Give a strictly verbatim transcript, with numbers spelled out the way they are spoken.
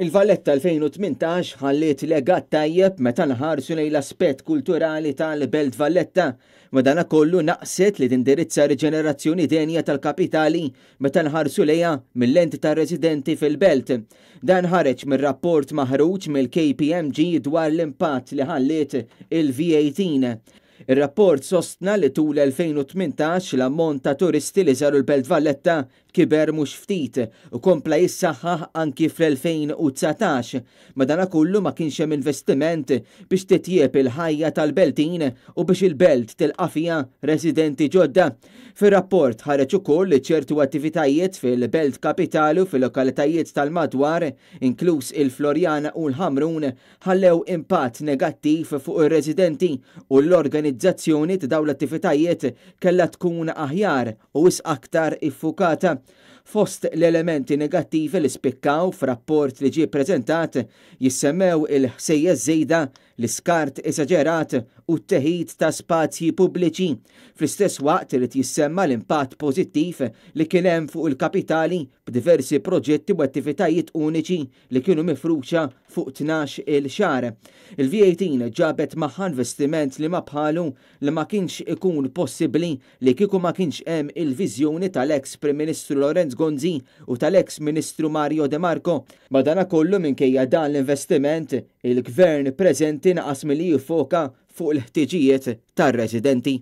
Il-Valletta elfejn u tmintax ħalliet legat tajjeb meta nħarsu lejn l-aspett kulturali tal-Belt Valletta. Madanakollu naqset li tindirizza riġenerazzjoni denja tal-kapitali meta nħarsu lejha mill-lenti tar-residenti fil-belt. Dan ħareġ mir-rapport maħruġ mill-K P M G dwar l-impatt li ħalliet il-V eighteen. Ir-rapport sostna li tul elfejn u tmintax l-ammont ta' turisti li żaru l-Belt Valletta kiber mhux ftit u kompla jissaħħaħ anki fl-elfejn u dsatax. Madanakollu ma kienx hemm investiment biex titjieb il-ħajja tal-Beltin u biex il-belt tilqa' fiha residenti ġodda. Fir-rapport ħareġ ukoll li ċertu attivitajiet fil-Belt Kapitali u fil-lokalitajiet tal-madwar, inkluż il-Floriana u l-Ħamrun, ħallew impatt negattiv fuq ir-residenti u l-organizzazzjoni ta' dawn l-attivitajiet kellha tkun aħjar u wisq aktar iffukata. Fost l-elementi negattivi li spikkaw f'rapport li ġie ppreżentat jissemmew il-ħsejjes żejda, l-iskart esaġerat u t-teħid ta' spazji pubbliċi. Fl-istess waqt irid jissemma l-impatt pożittiv li kien hemm fuq il-kapitali b'diversi proġetti u attivitajiet uniċi li kienu mifruxa fuq tnax il xahar. Il-V eighteen ġabet magħha investiment li ma bħalu li ma kienx ikun possibbli li kieku ma kienx hemm il-viżjoni tal-ex Prim Ministru Lawrence Gonzi u tal-ex Ministru Mario De Marco. Madanakollu minkejja dan l-investiment, il-gvern preżenti naqas milli jiffoka fuq il-ħtiġijiet tar-residenti.